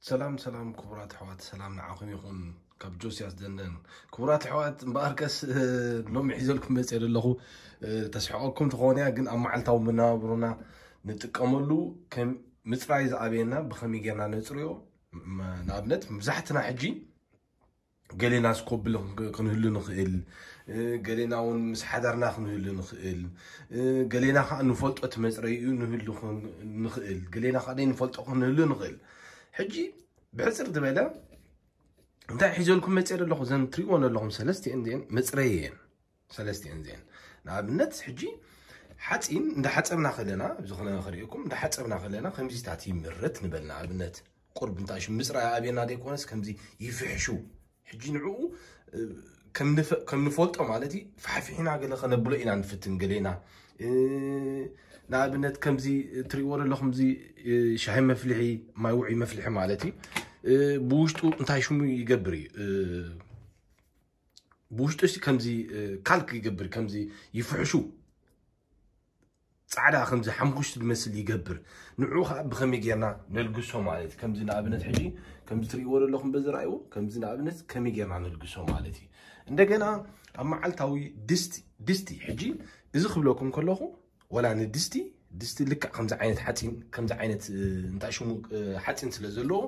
ሰላም ሰላም ክቡራት ኣሕዋት፣ ሰላም ንዓኹም ይኹን። ካብ ጆስያስ ደንደን። ክቡራት ኣሕዋት፣ እምበኣርከስ እ፣ ሎሚ ሒዘልኩም መፅእ ዘለኹ እ፣ ተስሕቐኩም ትኾን እያ፣ ግን ኣብ መዓልታዊ መነባብሮና ንጥቀመሉ ከም ምፅራይ ዝኣበየና ብኸመይ ጌርና ነፅርዮ። ም- ንኣብነት መብዛሕትና ሕጂ ገሌና ስኮብል ክንህሉ ንኽእል፣ እ፣ ገሌና እውን ምስ ሓዳርና ክንህሉ ንኽእል፣ እ፣ ገሌና ከዓ ንፈልጦ እቲ መፅረይኡ ንህሉ ክን- ንኽእል፣ ገሌና ከዓ ዘይንፈልጦ ክንህሉ ንኽእል። ሕጂ ብሕፅር ዝበለ እንታይ ሒዘልኩም መፅእ ዘለኹ፣ ዘን ትሪእዎ ዘለኹም ሰለስቲአን ዜን መፅረይ እየን። ሰለስቲአን ዜን ንኣብነት ሕጂ ሓፂን እንዳሓፀብና ከለና፣ ዝኾነ ከርእየኩም፣ እንዳሓፀብና ከለና ከምዚታት ይምርት ንበል። ንኣብነት ቁርብ እንታይ ሽም ምፅራይ ኣብየና ዘይኮነስ ከምዚ ይፍሕሹ። ሕጂ ንዕኡ እ፣ ከም ንፈ- ከም ንፈልጦ ማለት እዩ፣ ፋሕፊሕና ገለ ከነብሎ ኢና ንፍትን ገሌና። እ፣ ንኣብነት ከምዚ ትሪእዎ ዘለኹም እዚ እ፣ ሻሂ መፍልሒ፣ ማይ ውዒ መፍልሒ ማለት እዩ። እ፣ ብውሽጡ እንታይ ሽሙ ይገብር እዩ? እ፣ ብውሽጡ ሲ ከምዚ እ፣ ካልክ ይገብር፣ ከምዚ ይፍሕሹ፣ ፃዕዳ ከምዚ ሓምኩሽቲ ዝመስል ይገብር። ንዑ ከዓ ብኸመይ ጌርና ነልግሶ ማለት እዩ። ከምዚ ንኣብነት ሕጂ ከምዚ ትሪእዎ ዘለኹም በዚ ረኣይዎ፣ ከምዚ ንኣብነት ከመይ ጌርና ነልግሶ ማለት እዩ። እንደገና ኣብ መዓልታዊ ድስቲ ድስቲ ሕጂ እዚ ክብለኩም ከለኹ፣ ወላ ንድስቲ ድስቲ ልክዕ ከምዚ ዓይነት ሓፂን፣ ከምዚ ዓይነት እ፣ እንታይ ሽሙ እ፣ ሓፂን ስለ ዘለዎ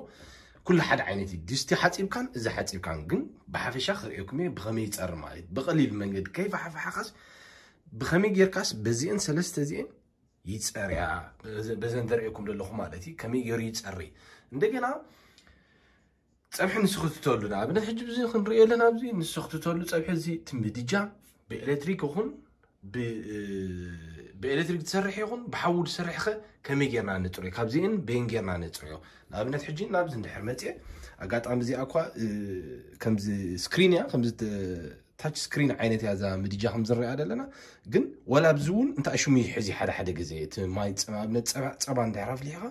ኩሉ ሓደ ዓይነት እዩ። ድስቲ ሓፂብካን እዚ ሓፂብካን ግን ብሓፈሻ ክርእየኩም እየ ብኸመይ ይፀር ማለት እዩ። ብቐሊል መንገዲ ከይፋሓፋሓኻስ ብኸመይ ጌርካስ በዚአን ሰለስተ እዚአን ይፀርያ። በዘ- በዘን ዘርእየኩም ዘለኹ ማለት እዩ ከመይ ገይሩ ይፀሪ። እንደገና ፀብሒ ንስኽትተሉ ንኣብነት ሕጂ ብዚ ክንሪኦ ኣለና። ኣብዚ ንስኽትተሉ ፀብሒ እዚ እቲ ምድጃ ብኤሌክትሪክ ይኹን ብ- ብኤሌክትሪክ ትሰርሕ ይኹን ብሓዊ ትሰርሕኸ ከመይ ጌርና ንፅርዮ? ካብዚአን በይን ጌርና ንፅርዮ? ንኣብነት ሕጂ ናብዚ እንድሕር መፅየ ኣጋጣሚ እዚኣ እኳ እ፣ ከምዚ ስክሪን እያ፣ ከምዚ ተ- ታች ስክሪን ዓይነት እያ እዛ ምድጃ ከም ዝረኣ ዘለና። ግን ወላ ኣብዚ እውን እንታይ ሽሙ ይሕዚ ሓደ ሓደ ግዜ እቲ ማይ ፅ- ኣብነት ፀባ ፀባ እንድሕር ኣፍሊሕኻ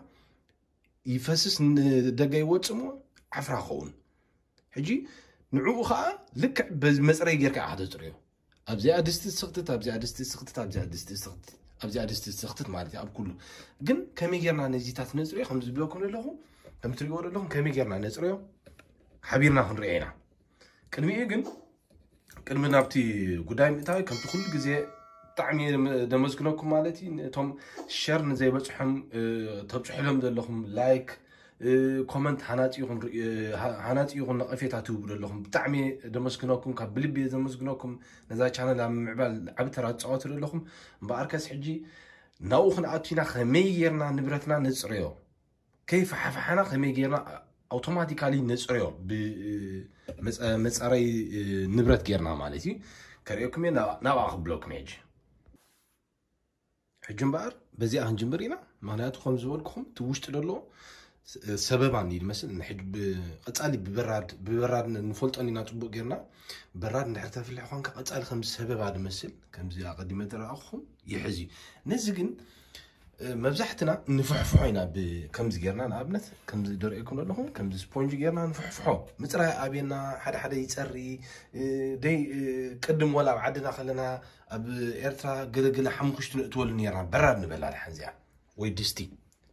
ይፈስስ ንደገ ይወፅእ እሞ ዓፍራ ኸውን። ሕጂ ንዕኡ ከዓ ልክዕ በዚ መፅረይ ጌርካ ኢኻ ተፅርዮ። ኣብዚኣ ድስቲ ስኽትት፣ ኣብዚኣ ድስቲ ስኽትት፣ ኣብዚኣ ድስቲ ስኽትት፣ ኣብዚኣ ድስቲ ስኽትት ማለት እዩ ኣብ ኩሉ። ግን ከመይ ጌርና ነዚታት ነፅርዮ ከም ዝብለኩም ዘለኹ፣ ከም ትሪእዎ ዘለኹም ከመይ ጌርና ነፅርዮ ሓቢርና ክንሪኦ ኢና። ቅድሚኡ ግን ቅድሚ ናብቲ ጉዳይ ምእታዊ ከምቲ ኩሉ ግዜ ብጣዕሚ እየ ደመ- ደመስግነኩም ማለት እዩ። ነቶም ሸር ንዘይበፅሖም እ፣ ተብፅሑሎም ዘለኹም ላይክ እ፣ ኮመንት ሃናፂ ይኹን ርኢ- እ፣ ሃ- ሃናፂ ይኹን ነቐፌታ ትህቡ ዘለኹም ብጣዕሚ እየ ደመስግነኩም፣ ካብ ብልቢ እየ ዘመስግነኩም። ነዛ ቻነል ኣብ ምምዕባል ዓቢ ተራ ትፃወቱ ዘለኹም። እምበኣርከስ ሕጂ ናብኡ ክንኣቱ ኢና። ከመይ ጌርና ንብረትና ነፅረዮ? ከይፈሓፈሓና ከመይ ጌርና ኣውቶማቲካሊ ነፅርዮ? ብ- መፀ- መፃረይ ንብረት ጌርና ማለት እዩ። ከርእየኩም እየ፣ ናብ- ናብኣ ክብለኩም እየ ሕጂ። ሕጂ እምበኣር በዚኣ ክንጅምር ኢና። ምክንያቱ ከም ዝበልኩኹም እቲ ውሽጢ ዘሎ ሰበባን እዩ ዝመስል። ንሕጂ ብ- ቀፃሊ ብበራድ ብበራድ ንፈልጦን ኢና ፅቡቅ ጌርና። በራድ እንድሕር ተፍልሕ ኳንካ ቀፃሊ ከምዚ ሰበባ ዝመስል ከምዚ ኣቐዲመ ተረኣኹኹም ይሕዝ እዩ። ነዚ ግን መብዛሕትና ንፍሕፍሖ ኢና። ብ- ከምዚ ጌርና ንኣብነት ከምዚ ደርእየኩም ዘለኹም ከምዚ ስፖንጅ ጌርና ንፍሕፍሖ። ምፅራይ ኣብየና ሓደ ሓደ ይፀሪ። እ፣ ደይ እ፣ ቅድም ወላ ኣብ ዓድና ከለና ኣብ ኤርትራ ገለገለ ሓሙኽሽቲ ንእትወሉ ኔርና በራድ ንበላ ድሓን እዚኣ ወይ ድስቲ።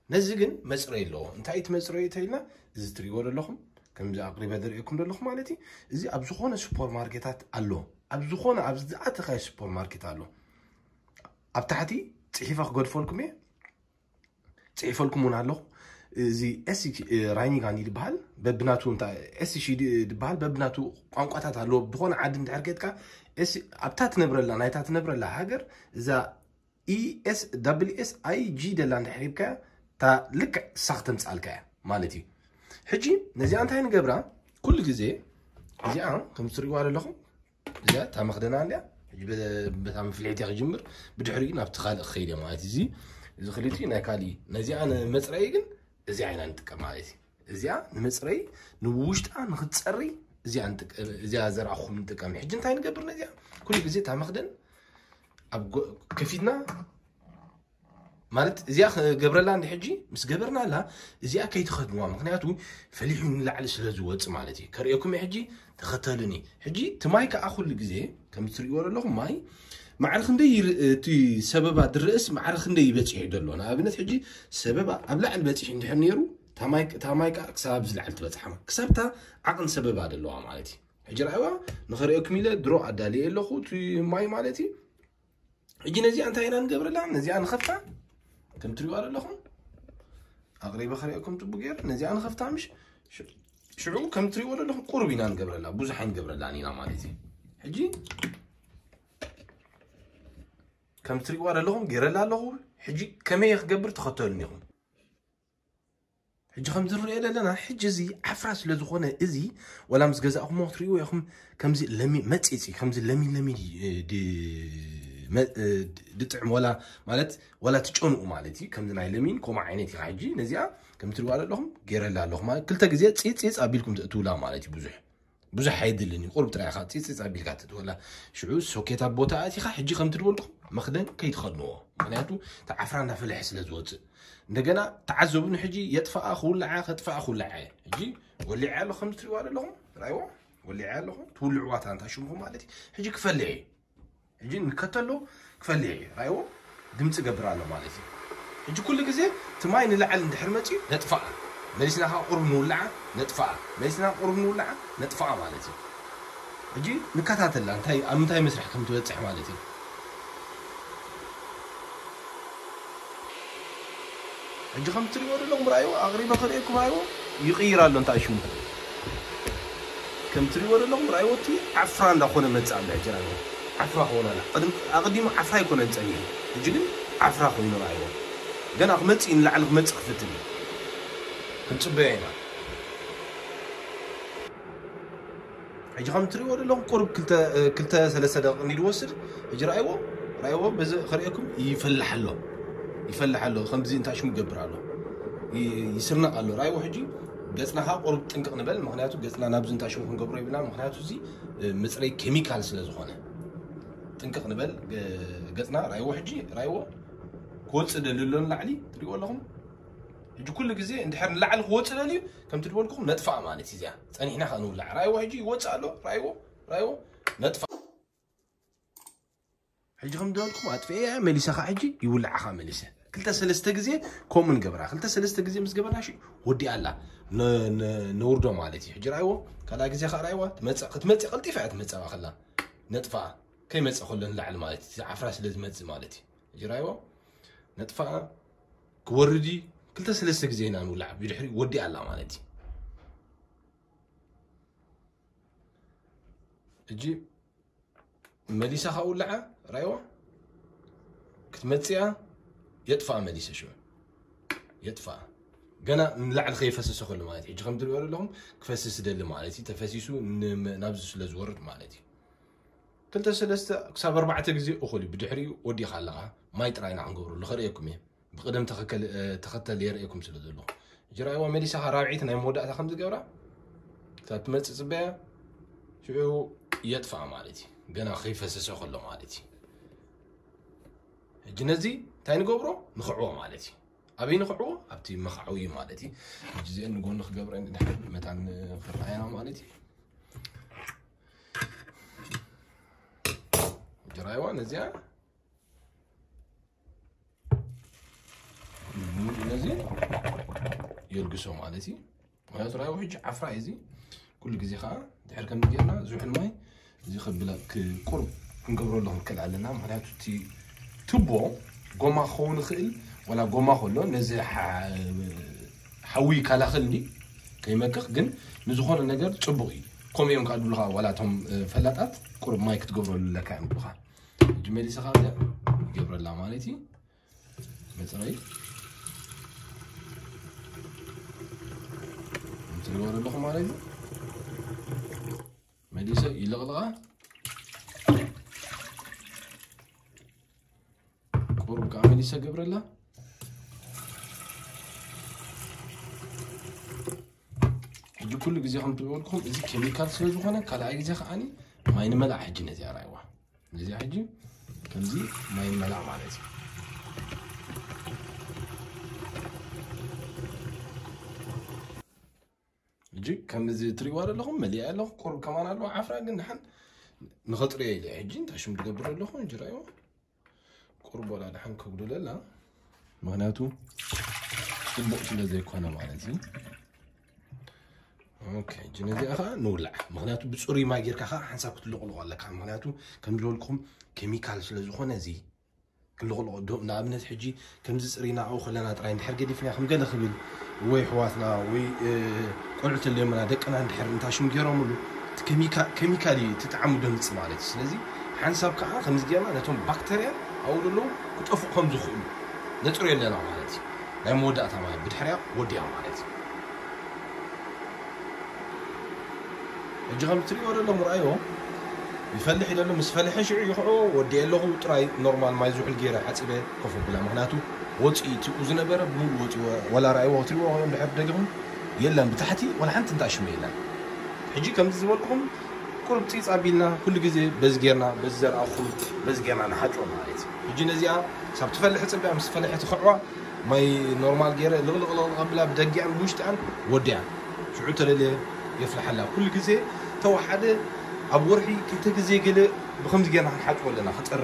ነዚ ግን መፅረይ ኣለዎ። እንታይ እቲ መፅረይ ተይልና እዚ ትሪእዎ ዘለኹም ከምዚ ኣቅሪበ ደርእየኩም ዘለኹ ማለት እዩ። እዚ ኣብ ዝኾነ ሱፐር ማርኬታት ኣሎ። ኣብ ዝኾነ ኣብ ዝኣተኻዮ ሱፐር ማርኬት ኣሎ። ኣብ ታሕቲ ፅሒፈ ክገድፈልኩም እየ። ፅሒፈልኩም እውን ኣለኹ። እዚ ኤስ ራይኒጋን እዩ ዝበሃል በብናቱ እንታይ ኤስ ሺ ድበሃል በብናቱ ቋንቋታት ኣለዎ። ብዝኾነ ዓዲ እንድሕር ከድካ ኤስ ኣብታ ትነብረላ ናይታ ትነብረላ ሃገር እዛ ኢኤስ ዳብል ኤስ ኣይ ጂ ደላ እንድሕር ሂብካያ እታ ልክዕ እሳ ክተምፅኣልካ እያ ማለት እዩ። ሕጂ ነዚኣ እንታይ ንገብራ? ኩሉ ግዜ እዚኣ ከም ትሪእዋ ዘለኹም እዚኣ እታ መኽደና እንዲያ። ሕጂ በ- በታ መፍልሒት እያ ክጅምር፣ ብድሕሪኡ ናብቲ ካልእ ክኸይድ እያ ማለት እዩ። እዚ እዚ ክልቲኡ ናይ ካልእ እዩ። ነዚኣ ንመፅረዪ ግን እዚኣ ኢና ንጥቀም ማለት እዩ። እዚኣ ንመፅረዪ ንውሽጣ ንክትፀሪ እዚኣ ንጥቀ- እዚኣ ዘርኣኹም ንጥቀም። ሕጂ እንታይ ንገብር? ነዚኣ ኩሉ ግዜ እታ መኽደን ኣብ ጎ- ከፊትና ማለት እዚኣ ክገብረላ እንዲ ሕጂ ምስ ገበርናላ እዚኣ ከይትኸድንዋ፣ ምክንያቱ ፈሊሑ ንላዕሊ ስለ ዝወፅእ ማለት እዩ። ከርእየኩም እየ ሕጂ ተኸተሉኒ። ሕጂ እቲ ማይ ከዓ ኩሉ ግዜ ከም ትሪእዎ ዘለኹም ማይ ማዕረ ክንደይ ይር- እቲ ሰበባ ድርእስ ማዕረ ክንደይ ይበፂሑ ዘሎ። ንኣብነት ሕጂ ሰበባ ኣብ ላዕሊ በፂሑ እንድሕር ነይሩ ታማይ ታማይ ከዓ ክሳብ ዝለዓል ትበፅሓ ክሳብታ ዓቕን ሰበብ ኣለዋ ማለት እዩ። ሕጂ ርኣይዋ ንኸርእየኩም ኢለ ድሮ ኣዳልየ ኣለኹ እቲ ማይ ማለት እዩ። ሕጂ ነዚኣ እንታይ ኢና ንገብረላ? ነዚኣ ንኸፍታ ከም ትሪዋ ዘለኹም ኣቕሪበ ክርእየኩም ፅቡቅ ገይረ ነዚኣ ንኸፍታ ምሽ ሽዑ ከም ትሪዎ ዘለኹም ቁርብ ኢና ንገብረላ፣ ብዙሕ ኣይንገብረላን ኢና ማለት እዩ። ሕጂ ከም ትሪዋ ዘለኹም ገይረላ ኣለኹ። ሕጂ ከመይ ክገብር ተኸተሉኒ ኢኹም። ሕጂ ከም ዝርአ ዘለና ሕጂ እዚ ዓፍራ ስለ ዝኾነ እዚ ወላ ምስ ገዛእኹሞ ክትሪእዎ ኢኹም። ከምዚ ለሚ መፂፂ ከምዚ ለሚን ለሚን ድጥዕም ወላ ማለት ወላ ትጨንኡ ማለት እዩ። ከምዚ ናይ ለሚን ከምኡ ዓይነት ኢኻ። ሕጂ ነዚኣ ከም ትሪዋ ዘለኹም ገይረላ ኣለኹ ማለት ክልተ ግዜ ፂፂፅ ኣቢልኩም ትእትውላ ማለት እዩ። ብዙሕ ብዙሕ ኣይድልን እዩ። ቁርብ ጥራይ ኢኻ ፂፅፅ ኣቢልካ ትእትወላ። ሽዑ ሶኬት ኣብ ቦታ ኣቲኻ ሕጂ ከም ትድበልኩም መኽደን ከይትኸድንዎ። ምክንያቱ እቲ ዓፍራ እንዳፈለሐ ስለ ዝወፅእ እንደገና ተዓዘቡኒ። ሕጂ የጥፋኣ ክውልዓ ከጥፋኣ ክውልዓ እየ። ሕጂ ወሊዐ ኣሎ ከም ትሪዋ ዘለኹም ራይዎ ወሊዐ ኣለኹ ትውልዕዋ ታንታ ሽምኹ ማለት እዩ። ሕጂ ክፈልሕ እዩ። ሕጂ ንከተሎ ክፈልሕ እዩ ራይዎ ድምፂ ገብር ኣሎ ማለት እዩ። ሕጂ ኩሉ ግዜ እቲ ማይ ንላዕሊ እንድሕር መፅዩ ነጥፋኣ መሊስና ከዓ ቁርብ ንውልዓ ነጥፋኣ መሊስና ቁርብ ንውልዓ ነጥፋኣ ማለት እዩ። ሕጂ ንከታተላ እንታይ ኣብ ምንታይ መስርሕ ከም ትበፅሕ ማለት እዩ። ሕጂ ከም ትሪእዎ ዘለኹም ራእይዎ ኣቕሪበ ክርእየኩም ራእይዎ ይቕይር ኣሎ እንታይ ሽሙ ከም ትሪእዎ ዘለኹም ራእይዎ እቲ ዓፍራ እንዳኾነ መፅእ ኣሎ። ሕጂ ራእይዎ ዓፍራ ክኾነ ኣላ። ቅድም ኣቐዲሙ ዓፍራ ኣይኮነን ፀኒሑ ሕጂ ግን ዓፍራ ኮይኑ ራእይዎ ገና ክመፅእ ንላዕሊ ክመፅእ ክፍትን እዩ። ክንፅበዮ ኢና። ሕጂ ከም ትሪእዎ ዘለኹም ቁርብ ክልተ ክልተ ሰለስተ ደቂቕ እንዲ ዝወስድ። ሕጂ ራእይዎ ራእይዎ በዚ ክርእየኩም ይፈልሕ ኣሎ። ይፈልሕ ኣሎ ከምዚ እንታይ ሽሙ ይገብር ኣሎ። ይ- ይስርነቕ ኣሎ ራእይዎ። ሕጂ ገፅና ከዓ ቁርብ ጥንቅቕ ንበል ምክንያቱ ገፅና ናብዚ እንታይ ሽሙ ክንገብሮ ይብልና ምክንያቱ እዚ እ፣ ምፅረይ ኬሚካል ስለ ዝኾነ ጥንቅቕ ንበል። ገ- ገፅና ራእይዎ ሕጂ ራእይዎ ክወፅእ ደልዩ ኣሎ ንላዕሊ ትሪእዎ ኣለኹም። ሕጂ ኩሉ ግዜ እንድሕር ንላዕሊ ክወፅእ ደልዩ ከምቲ ዝበልኩኹም ነጥፋእ ማለት እዩ። እዚኣ ፀኒሕና ከኣ ንውላዕ ራእይዎ ሕጂ ይወፅእ ኣሎ። ራእይዎ ራእይዎ ነጥፋእ። ሕጂ ከም ዝበልኩም ኣጥፍኤ እያ መሊሰኻ ሕጂ ይውላዕኻ መሊሰ ክልተ ሰለስተ ግዜ ከምኡ ንገብራ ክልተ ሰለስተ ግዜ ምስ ገበርና ሽ ወዲኣ ኣላ ነ- ነ- ነውርዶ ማለት እዩ። ሕጂ ራእይዎ ካልኣ ግዜ ከዓ ራእይዋ ትመፅእ ክትመፅእ ቀልጢፋ እያ ትመፅእ ከላ ነጥፋኣ ከይመፅእ ከሎ ንላዕሊ ማለት እዩ። ዓፍራ ስለ ዝመፅእ ማለት እዩ። ሕጂ ራእይዎ ነጥፋኣ ክወርድ እዩ። ክልተ ሰለስተ ግዜ ኢና ንውላዕ ብድሕሪ ወዲኣ ኣላ ማለት እዩ። እጂ መሊሳ ካብ ውላዓ ራይዋ ክትመፅያ የጥፋኣ መሊሰ ሽዑ የጥፋኣ ገና ንላዕሊ ከይፈሰሰ ከሎ ማለት እዩ። ሕጂ ከም ትሪኦ ዘለኹም ክፈስስ ደሊ ማለት እዩ። ተፈሲሱ ን- ናብዚ ስለ ዝወርድ ማለት እዩ። ክልተ ሰለስተ ክሳብ ኣርባዕተ ግዜ እኹል እዩ። ብድሕሪኡ ወዲኻ ኣለኻ ማይ ጥራይና ክንገብረሉ ከርእየኩም እየ። ብቕደም ተኸከል- እ፣ ተኸተል የርእየኩም ስለ ዘለኹ ሕጂ ራእይዋ መሊሳ ራብዒት ናይ መወዳእታ ከም ዝገብራ ክሳብ ትመፅእ ፅበያ ሽዑ የጥፋኣ ማለት እዩ። ገና ከይፈሰሰ ከሎ ማለት እዩ። ሕጂ ነዚ እንታይ ንገብሮ ንኽዕዎ ማለት እዩ። ኣበይ ንኽዕዎ ኣብቲ መኽዓዊ ማለት እዩ። ሕጂ እዚአን ንጎኒ ክገብረን ድሓን መታን ክረኣየና ማለት እዩ። ሕጂ ራእይዋ ነዚኣ ሙሉ ነዚ የልግሶ ማለት እዩ። ምክንያቱ ራእይዎ ሕጂ ዓፍራ እዩ እዚ ኩሉ ግዜ ከዓ ድሕር ከም ጌርና ዝውሕል ማይ እዚ ከብላ ቁርብ ክንገብረሉ ክንክእል ኣለና። ምክንያቱ እቲ ቱቦ ጎማ ክኸውን ይኽእል ወላ ጎማ ከሎ ነዚ ሓዊ ይከላኸል እንዲ ከይመክኽ ግን ንዝኾነ ነገር ፅቡቕ እዩ። ከምኡ እዮም ከዓ ድብሉኻ ዋላ እቶም ፈላጣት ቁርብ ማይ ክትገብረሉ ኣለካ እዮም ድብሉኻ። ሕጂ መሊሰኻ እዚኣ ይገብረላ ማለት እዩ። መፅረይ እንትሪዎ ዘለኹ ማለት እዩ። መሊሰ ይለቕልቓ ቁሩብ ከዓ መሊሰ ገብረላ። ሕጂ ኩሉ ግዜ ከም ትበልኩም እዚ ኬሚካል ስለ ዝኾነ ካልኣይ ግዜ ከዓኒ ማይ ንመላእ ሕጂ ነዚኣ ራይዋ ነዚኣ ሕጂ ከምዚ ማይ ንመላእ ማለት እዩ። ሕጂ ከምዚ ትሪእዋ ዘለኹም መሊኣ ኣለኹ ቁሩብ ከማን ኣለዋ ዓፍራ ግን ድሓን ንኸጥርዮ ኢለ ሕጂ እንታይ ሽም ትገብር ኣለኹ እንጂ ራይዋ ቁሩብ ወላ ድሓን ከጉድለላ ምክንያቱ ጽቡቕ ስለ ዘይኮነ ማለት እዩ። ኦኬ፣ ሕጂ ነዚኣ ኸዓ ንውላዕ። ምኽንያቱ ብጽሩይ ማይ ጌርካ ኸዓ ሓንሳብ ክትልቕልቖ ኣለካ። ምኽንያቱ ከም ዝበልኩም ኬሚካል ስለ ዝኾነ እዚ ክልቕልቖ ዶ-፣ ንኣብነት ሕጂ ከምዚ ጽሪና ኣብኡ ከለና ጥራይ እንድሕር ገዲፍና ከም ገለ ክብል ወይ ኣሕዋትና ወይ፣ እ፣ ቆልዑ ተልዮምና ደቅና እንድሕር እንታሽም ገይሮምሉ እቲ ኬሚካ-፣ ኬሚካል እዩ እቲ ጣዕሙ ደምጽእ ማለት እዩ። ስለዚ ሓንሳብ ከዓ ከምዚ ጌርና ነቶም ባክተርያ ኣብኡ ዘለዉ ክጠፍኡ ከም ዝኽእሉ ነጽርዮ ኣለና ማለት እዩ። ናይ መወዳእታ ማለት ብድሕሪያ ወዲያ ማለት እዩ። ሕጂ ከም ትሪእዎ ዘለኹም ርኣይዎ፣ ይፈልሕ እዩ ዘሎ። ምስ ፈለሐ ሽዑ ይኽዕዎ ወዲአ ኣለኹ። ጥራይ ኖርማል ማይ ዝውሕል ገይረ ሓፂበ ኮፍ ኣብላ። ምኽንያቱ ወፂኡ እቲ ዝነበረ ብምሉእ ወፂኡ። ወላ ርኣይዎ ክትሪእዎ እንድሕር ደጊኹም የለን፣ ብታሕቲ ወላ ሓንቲ እንታይ ሽመ የለን። ሕጂ ከምዚ ዝበልኩኹም ቁሩብ ፂፅ ኣቢልና ኩሉ ግዜ በዚ ጌርና፣ በዚ ዘርኣኹም በዚ ጌርና ንሓጭዎ ማለት እዩ። ሕጂ ነዚኣ ሳብ ትፈልሕ ፅቢያ ምስ ፈለሐ ትኽዕዋ ማይ ኖርማል ገይረ ልቕልቕ ልቕልቕ ኣብላ ብደጊኣን ብውሽጢኣን ወዲኣን። ሽዑ ተለልየ የፍልሓላ። ኩሉ ግዜ ተወሓደ ኣብ ወርሒ ክልተ ግዜ ገለ ብኸምዚ ጌርና ክንሓጥቦ ኣለና። ክጠር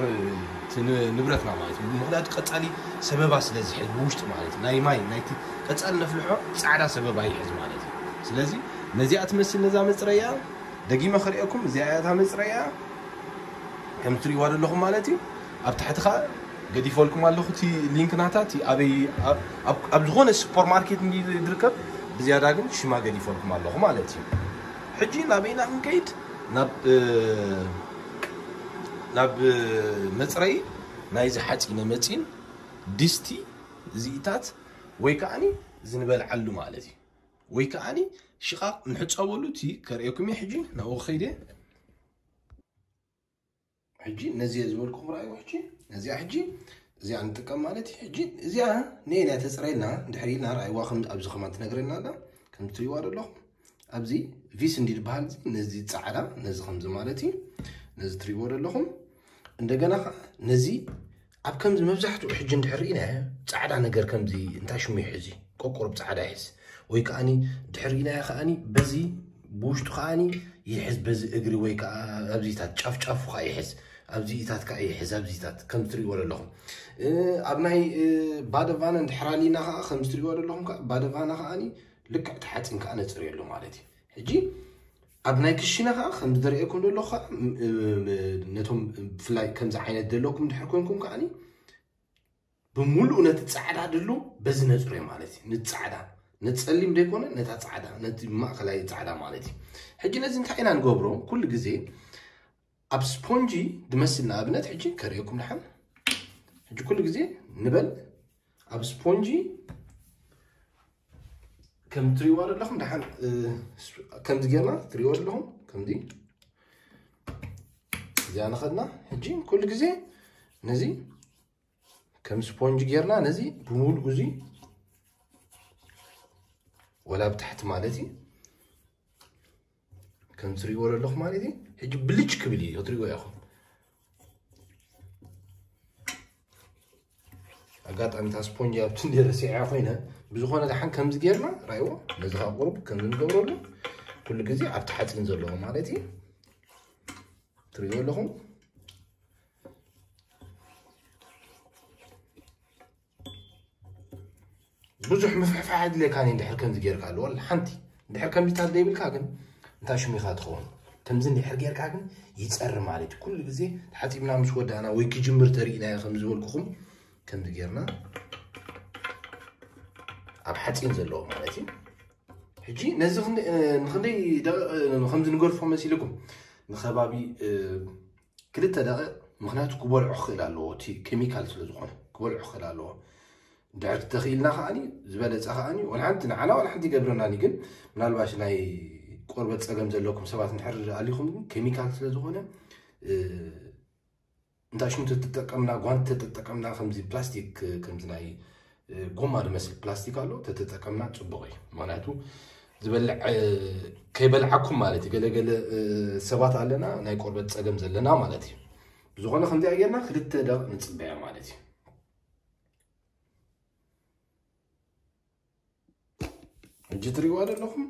እቲ ን-፣ ንብረትና ማለት እዩ። ምኽንያቱ ቀጻሊ ሰበባ ስለ ዝሕዝ ብውሽጢ ማለት እዩ። ናይ ማይ ናይቲ ቀጻሊ ነፍልሖ ጻዕዳ ሰበባ ይሕዝ ማለት እዩ። ስለዚ ነዚኣ ትመስል ነዛ መጽረያ ደጊመ ክርእየኩም። እዚኣ እያ እታ መጽረያ። ከም ትሪእዋ ዘለኹም ማለት እዩ። ኣብ ታሕቲ ኸዓ ገዲፈልኩም ኣለኹ እቲ ሊንክ ናታ፣ እቲ ኣበይ፣ ኣብ፣ ኣብ፣ ኣብ ዝኾነ ሱፐርማርኬት እንዲ ዝርከብ፣ ብዝያዳ ግን ሽማ ገዲፈልኩም ኣለኹ ማለት እዩ። ሕጂ ናበይና ክንከይድ? ናብ፣ እ፣ ናብ፣ እ፣ መጽረዪ ናይዚ ሓፂነ መፂን ድስቲ እዚኢታት ወይ ከዓኒ እዚ ንበልዓሉ ማለት እዩ። ወይ ከዓኒ ሽቓቕ ንሕፀበሉ እቲ ከርእየኩም እየ ሕጂ ናብኡ ከይደ። ሕጂ ነዚ ዝበልኩም ርኣይዎ። ሕጂ ነዚኣ ሕጂ እዚኣ ንጥቀም ማለት እዩ። ሕጂ እዚኣ ነየናይ ተፅረየልና እንድሕር ኢልና ርኣይዋ፣ ከም ኣብዚ ከማን ትነግረና ኣላ። ከም ትሪእዋ ዘለኹም ኣብዚ ቪስ እንዲ ዝበሃል እዚ፣ ነዚ ፃዕዳ፣ ነዚ ከምዚ ማለት እዩ። ነዚ ትሪእዎ ዘለኹም። እንደገና ኸዓ ነዚ ኣብ ከምዚ መብዛሕትኡ ሕጂ እንድሕር ርኢናዮ ፃዕዳ ነገር ከምዚ እንታይ ሽሙ ይሕዝ እዩ? ቆቁርብ ፃዕዳ ይሕዝ። ወይ ከዓኒ ድሕር ርኢናዮ ከዓኒ በዚ ብውሽጡ ከዓኒ ይሕዝ፣ በዚ እግሪ ወይ ከዓ ኣብዚታት ጫፍ ጫፉ ከዓ ይሕዝ፣ ኣብዚታት ከዓ ይሕዝ፣ ኣብዚታት ከም ትሪእዎ ዘለኹም። እ፣ ኣብ ናይ፣ እ፣ ባደቫነ እንድሕር ኣሊና ከዓ ከም ትሪእዎ ዘለኹም ከዓ ባደቫነ ከዓኒ ልክዕ ተሓፂን ከዓ ነፅርየሉ ማለት እዩ። ሕጂ ኣብ ናይ ክሽነ ከዓ ከም ዝደርእየኩም ዘለኹ ከዓ፣ ም-፣ ም-፣ ነቶም ብፍላይ ከምዚ ዓይነት ዘለኩም እንድሕር ኮንኩም ከዓኒ ብምሉእ ነቲ ጻዕዳ ድሉ በዚ ነጽርዮ ማለት እዩ። ነቲ ጻዕዳ፣ ነቲ ጸሊም ዘይኮነ፣ ነታ ጻዕዳ፣ ነቲ ማእከላይ ጻዕዳ ማለት እዩ። ሕጂ ነዚ እንታይ ኢና ንገብሮ? ኩሉ ግዜ ኣብ ስፖንጂ ድመስል፣ ንኣብነት ሕጂ ከርእየኩም ደሓን። ሕጂ ኩሉ ግዜ ንበል ኣብ ስፖንጂ ከም ትሪእዋ ዘለኹም ደሓን፣ እ፣ ከምዚ ጌርና ትሪእዎ ዘለኹም ከምዚ እዚኣ ንኸድና። ሕጂ ኩሉ ግዜ ነዚ ከም ስፖንጅ ጌርና ነዚ ብምሉእ እዚ ወላ ብታሕቲ ማለት እዩ ከም ትሪእዎ ዘለኹም ማለት እዩ። ሕጂ ብልጭ ክብል እዩ ክትሪእዎ ኢኹም። ኣጋጣሚ እታ ስፖንጅ ኣብቲ እንደ ረሲዐ ኮይነ ብዝኾነ ደሓን ከምዚ ጌርና ራይዎ ነዚ ካብ ቁሩብ ከምዚ ንገብረሉ ኩሉ ግዜ ኣብቲ ሓፂን ዘለዎ ማለት እዩ ትሪእዎ ኣለኹም። ብዙሕ ምፍሕፋሕ ኣድልየካን እዩ። እንድሕር ከምዚ ጌርካ ኣለዎ ሓንቲ እንድሕር ከምዚታት ዘይብልካ ግን እንታይ ሽሚኻ ትኸውን ከምዚ እንድሕር ጌርካ ግን ይጸሪ ማለት እዩ። ኩሉ ግዜ ተሓጺብና ምስ ወዳእና ወይ ክጅምር ተሪእናዮ ከም ዝበልኩኹም ከምዚ ጌርና ኣብ ሓጺን ዘለዎ ማለት እዩ። ሕጂ ነዚ ክንደይ፣ እ፣ ንክንደይ ደቂቕ፣ እ፣ ከምዚ ንገድፎ መሲልኩም ንከባቢ፣ እ፣ ክልተ ደቂቕ፣ ምኽንያቱ ክበልዖ ክኽእል ኣለዎ፣ እቲ ኬሚካል ስለ ዝኾነ ክበልዖ ክኽእል ኣለዎ። ድሕር ተኽኢልና ከዓኒ ዝበለጸ ከዓኒ ወላ ሓንቲ ንዓና ወላ ሓንቲ ይገብረናኒ፣ ግን ምናልባሽ ናይ ቆርበት ጸገም ዘለኩም ሰባት እንድሕር ኣሊኹም ግን ኬሚካል ስለ ዝኾነ፣ እ፣ እንታይ ሽሙ ተተጠቀምና፣ ጓንቲ ተተጠቀምና፣ ከምዚ ፕላስቲክ፣ ከምዚ ናይ፣ እ፣ ጎማ ዝመስል ፕላስቲክ ኣሎ፣ ተተጠቀምና ጽቡቕ እዩ። ምኽንያቱ ዝበልዕ፣ እ፣ ከይበልዓኩም ማለት እዩ። ገለገለ፣ እ፣ ሰባት ኣለና፣ ናይ ቆርበት ጸገም ዘለና ማለት እዩ። ብዝኾነ ከምዚኣ ጌርና ክልተ ደቂቕ ንጽበያ ማለት እዩ። ሕጂ ትሪእዋ ዘለኹም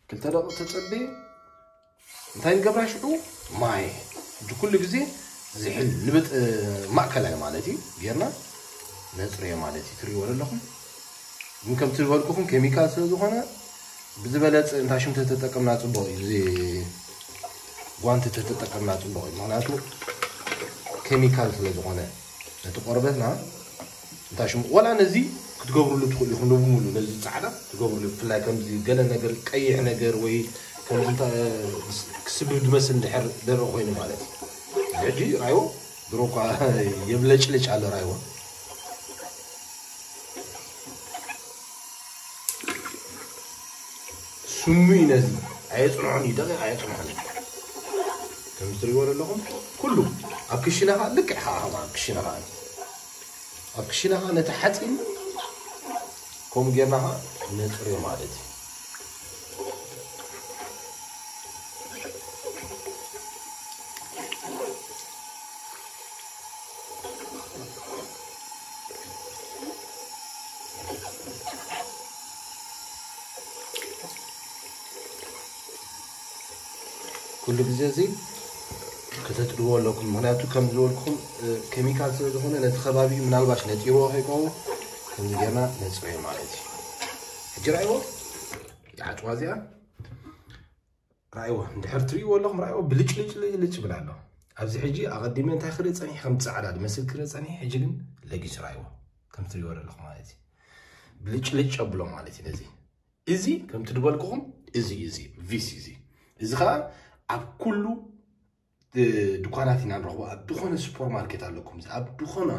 ክልተ ደቂቕ ተጸበየ። እንታይ ንገብራ ሽዑ? ማይ። ሕጂ ኩሉ ግዜ ዝሕል ንብጥ-፣ ማእከላይ ማለት እዩ ጌርና ነጽርዮ ማለት እዩ። ትሪእዎ ዘለኹም ግን ከምቲ ዝበልኩኹም ኬሚካል ስለ ዝኾነ ብዝበለፀ እንታሽም ተተጠቀምና ፅቡቕ እዩ። እዚ ጓንቲ ተተጠቀምና ፅቡቕ እዩ። ምክንያቱ ኬሚካል ስለ ዝኾነ ነቲ ቆርበትና እንታሽም ወላ ነዚ ክትገብርሉ ትኽእሉ ኢኹም። ንብሙሉ ነዚ ፃዕዳ ትገብርሉ፣ ብፍላይ ከምዚ ገለ ነገር ቀይሕ ነገር ወይ ከምዚ እንታ- ክስብብ ዝመስል እንድሕር ደረቕ ኮይኑ ማለት እዩ። ሕጂ ራይዎ ድሮ እኳ የብለጭልጭ ኣሎ ራይዎ። ስሙ እዩ ነዚ ኣየፅንዖን እዩ፣ ደቂቕ ኣየፅንዖን እዩ። ከም ትሪእዎ ዘለኹም ኩሉ ኣብ ክሽነ ከዓ ልክዕ ከዓ ኣብ ክሽነ ከዓ ኣብ ክሽነ ከዓ ነቲ ሓፂን ከምኡ ጌርና ከዓ ነፅርዮ ማለት እዩ። ኩሉ ግዜ እዚ ከተጥድዎ ኣለኩም። ምክንያቱ ከም ዝበልኩም እ፣ ኬሚካል ስለ ዝኾነ ነቲ ከባቢ ምናልባሽ ነጢርዎ ከይከውን ከምዚ ጌርና ነፅርዮ ማለት እዩ። ሕጂ ራእይዎ ይዓፅዋ እዚኣ ራእይዎ እንድሕር ትርእይዎ ኣለኹም ራእይዎ ብልጭ ልጭ ልጭ ልጭ ይብል ኣሎ። ኣብዚ ሕጂ ኣቐዲመ እንታይ ክርኢ ፀኒሕ ከም ፃዕዳ ዝመስል ክርኢ ፀኒሕ ሕጂ ግን ለጊሱ ራእይዎ ከም ትርእይዎ ዘለኹም ማለት እዩ። ብልጭ ልጭ ኣብሎ ማለት እዩ። ነዚ እዚ ከምቲ ዝበልኩኹም እዚ እዚ ቪስ እዚ እዚ ከዓ ኣብ ኩሉ እ፣ ድኳናት ኢና ንረኽቦ። ኣብ ዝኾነ ሱፐር ማርኬት ኣለኩም፣ ኣብ ዝኾነ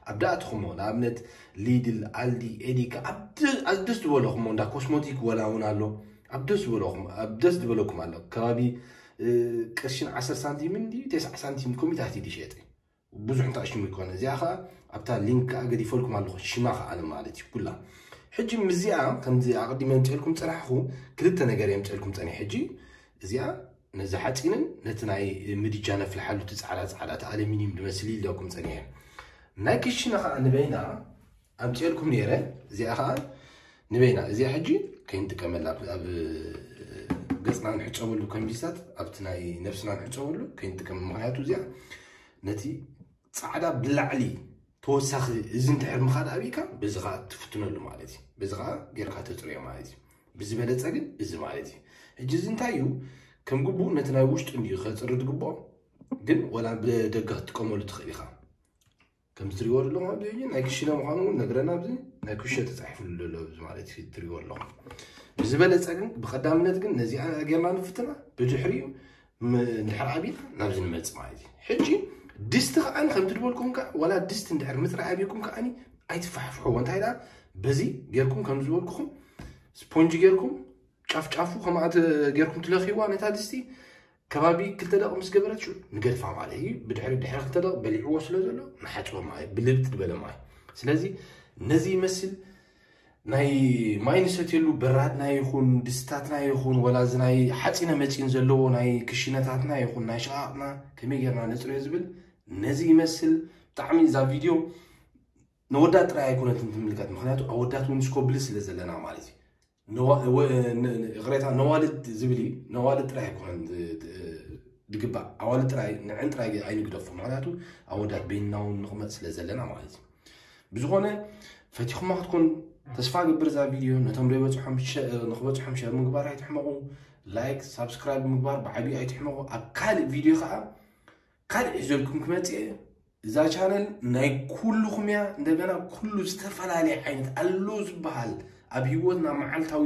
ኣብ ዳእትኹሞ ንኣብነት ሊድል፣ ኣልዲ፣ ኤዲካ ኣብ ደ- ኣብ ደስ ዝበለኹሞ እንዳ ኮስሞቲክ ወላ እውን ኣሎ። ኣብ ደስ ዝበለኹም ኣብ ደስ ዝበለኩም ኣሎ። ከባቢ እ፣ ቅርሽን ዓሰርተ ሳንቲምን ድዩ ተስዓ ሳንቲም ኮሚታት እዩ ዝሸጥ። ብዙሕ እንታይ ሽሙ ይኮነ። እዚኣ ኸዓ ኣብታ ሊንክ ከዓ ገዲፈልኩም ኣለኹ ሽማ ከዓ ማለት እዩ ኩላ። ሕጂ ምስዚኣ ከምዚ ኣቐዲመ የምፅኤልኩም ፅናሕኹ ክልተ ነገር የምፅኤልኩም ፀኒሕ። ሕጂ እዚኣ ነዚ ሓፂንን ነቲ ናይ ምድጃ ነፍልሓሉ እቲ ፃዕዳ ፃዕዳ እቲ ኣሉሚኒየም ዝመስል ኢለኩም ፀኒሐ። ናይ ክሽነ ከዓ ንበይና ኣምፅኤልኩም ነይረ። እዚኣ ከዓ ንበይና እዚኣ ሕጂ ከይንጥቀመላ ኣብ- ኣብ ገፅና ንሕፀበሉ ከምቢስታት ኣብቲ ናይ ነብስና ንሕፀበሉ ከይንጥቀም። ምክንያቱ እዚኣ ነቲ ፃዕዳ ብላዕሊ ተወሳኺ እዚ እንድሕር ምኻድ ኣብካ በዚ ከዓ ትፍትነሉ ማለት እዩ። በዚ ከዓ ጌርካ ተፅርዮ ማለት እዩ። ብዝበለፀ ግን እዚ ማለት እዩ። ሕጂ እዚ እንታይ እዩ ከም ግቡእ ነቲ ናይ ውሽጡ እንድዩ ከፅሪ ዝግብኦ፣ ግን ወላ ብደገ ክትጥቀመሉ ትኽእል ኢኻ። ከም ትሪእዎ ዘለኹም ኣብዚ ሕጂ ናይ ክሽነ ምዃኑ እውን ነግረና። ኣብዚ ናይ ክሽነ ተፃሒፉሉ ዘሎ ኣብዚ ማለት እዩ ትሪእዎ ኣለኹም። ብዝበለፀ ግን ብቐዳምነት ግን ነዚኣ ጌርና ንፍትና። ብድሕሪኡ ም- እንድሕር ዓቢና ናብዚ ንመፅእ ማለት እዩ። ሕጂ ድስቲ ከዓኒ ከም ትድበልኩም ከዓ ዋላ ድስቲ እንድሕር ምፅራይ ኣብኩም ከዓኒ ኣይትፋሕፍሕዎ። እንታይ ደኣ በዚ ጌርኩም ከም ዝበልኩኹም ስፖንጅ ጌርኩም ጫፍ ጫፉ ከምኣ ተ- ጌርኩም ትለኽይዋ ነታ ድስቲ ከባቢ ክልተ ደቂ ምስ ገበረት ሽዑ ንገድፋ ማለት እዩ። ብድሕሪ ድሕሪ ክልተ ደቂ በሊዕዎ ስለ ዘሎ ንሓፅቦ ማለት ብልብጥ ዝበለ ማለት። ስለዚ ነዚ ይመስል ናይ ማይ ንሰትየሉ በራድና ይኹን ድስታትና ይኹን ወላ እዚ ናይ ሓፂነ መፂን ዘለዎ ናይ ክሽነታትና ይኹን ናይ ሸቓቕና ከመይ ጌርና ነፅርዮ ዝብል ነዚ ይመስል። ብጣዕሚ እዛ ቪድዮ ነወዳት ጥራይ ኣይኮነትን ትምልከት፣ ምክንያቱ ኣወዳት እውን ስኮብል ስለ ዘለና ማለት እዩ። ነዋ- ወ- ን- ን- ይቕሬታ ነዋልድ ዝብል እዩ። ነዋልድ ጥራይ ኣይኮነን ዝ- ት- ዝግባእ ኣዋልድ ጥራይ ንዕን ጥራይ ኣይንግደፎ፣ ምክንያቱ ኣወዳት በይንና እውን ንቕመጥ ስለ ዘለና ማለት እዩ። ብዝኾነ ፈቲኹማ ክትኮን ተስፋ ገብር እዛ ቪድዮ ነቶም ዘይበፅሖም ሸ- ንክበፅሖም ሸር ምግባር ኣይትሕመቑ። ላይክ ሳብስክራይብ ምግባር ብዓብዩ ኣይትሕመቑ። ኣብ ካልእ ቪድዮ ከዓ ካልእ ሒዘልኩም ክመፅእ እየ። እዛ ቻነል ናይ ኩልኹም እያ። እንደገና ኩሉ ዝተፈላለየ ዓይነት ኣሎ ዝበሃል ኣብ ህይወትና መዓልታዊ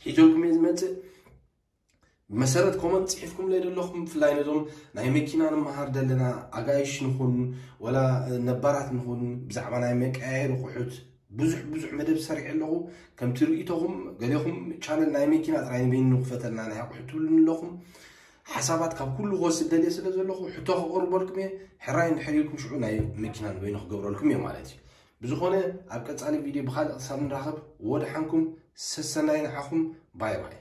ሒዘልኩም እየ ዝመፅእ። ብመሰረት ኮመንት ፅሒፍኩም ለይ ዘለኹም ብፍላይ ነዞም ናይ መኪና ንምሃር ዘለና ኣጋይሽ ንኹን ወላ ነባራት ንኹን ብዛዕባ ናይ መቀያየሪ ኣቑሑት ብዙሕ ብዙሕ መደብ ሰሪዐ ኣለኹ። ከምቲ ርእይቶኹም ገሌኹም ቻነል ናይ መኪና ጥራይ ንበይኑ ንኽፈተልና ናይ ኣቑሑት ትብሉኒ ኣለኹም። ሓሳባት ካብ ኩሉ ክወስድ ደልየ ስለ ዘለኹ ሕቶ ከቕርበልኩም እየ። ሕራይ እንድሕር ኢልኩም ሽዑ ናይ መኪና ንበይኑ ክገብረልኩም እየ ማለት እዩ። ብዝኾነ ኣብ ቀፃሊ ቪድዮ ብካልእ ክሳብ ንራኸብ ወድሓንኩም ሰሰናይ ንዓኹም። ባይ ባይ።